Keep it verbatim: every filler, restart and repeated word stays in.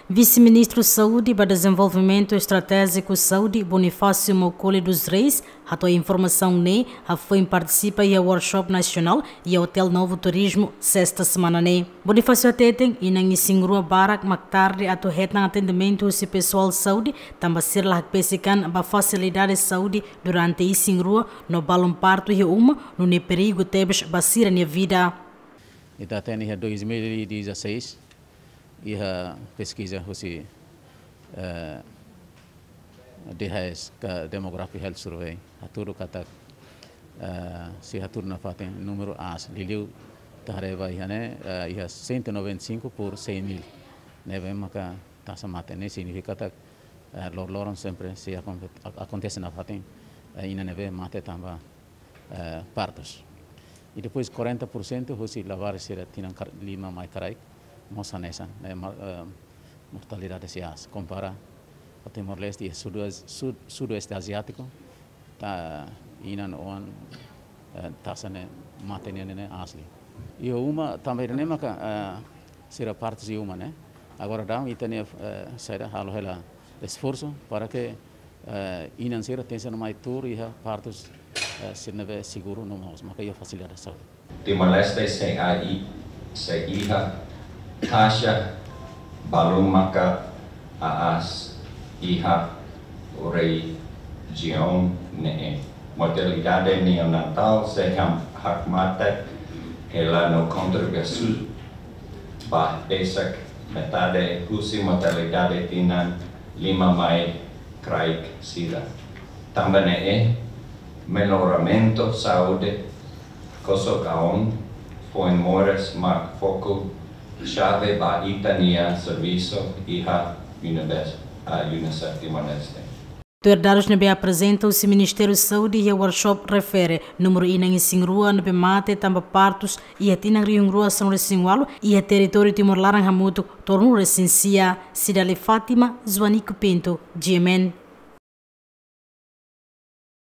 Vise-Ministru Saúde ba Dezenvolvimentu Estratéjiku Saúde, Bonifácio Maukoli dos Reis, hato'o informasaun ne'e hafoin partisipa iha workshop nasionál iha Hotel Novo Turismo, sesta semana ne'e. Bonifácio hateten, inan isin-rua barak mak tarde atu hetan atendimentu husi pesoál saúde, tanba sira la hakbesik an ba fasilidade saúde durante isin-rua, no balun partu iha uma, nune'e perigu tebes ba sira-nia vida. Ita hatene iha dois mil e dezasseis, iha peskiza husi, eh, D H S ka Demographic Health Survey, hatudu katak, eh, sei hatudu nafatin númeru aas, liuliu ita haree ba iha ne'e, eh, iha cento e noventa e cinco por cem mil. Ne'ebé maka taxa mate ne'e signifika katak, eh, loroloron sempre sei akon-, ak-, akontese nafatin, eh, inan ne'ebé mate tanba, eh, partus. I depois quarenta por cento husi labarik sira tinan kar-, lima mai kraik, mós hanesan, eh, ma-, eh, mortalidade sei aas. Kompara ho Timor-Leste iha sudo-, sud-, sudoeste aziátiku, ta inan oan, eh, taxa ne'e mate nian ne'e aas liu. Iha uma, tanba ida-ne'e maka, eh, sira partus iha uma, ne'e. Agora daudaun ita-nia, eh, saida, halo hela esforsu para ke, eh, inan sira tenke sai mai tuur iha partus, eh, sira ne'ebé seguru no mós maka iha fasilidade saúde. Timor-Leste sei ai-, sei iha taxa balun maka aas iha rejiaun ne'e. Mortalidade neonatál sei ham-, hakmatek hela no kontroversu ba besik metade husi mortalidade tinan lima mai kraik sira. Tanba ne'e, melloramentu saúde kosok aon foin moras mak foku xave ba ita-nia servisu iha Unibes-, ah, UNICEF Timor-Leste. Tuir dadus ne'ebé aprezenta husi Ministériu Saúde iha workshop refere, númeru inan isin-rua ne'ebé mate tanba partus iha tinan rihun rua sanulu-resin-ualu iha territóriu Timor laran hamutuk tolunulu-resin-sia. Cidália Fátima, Joanico Pinto, G M N.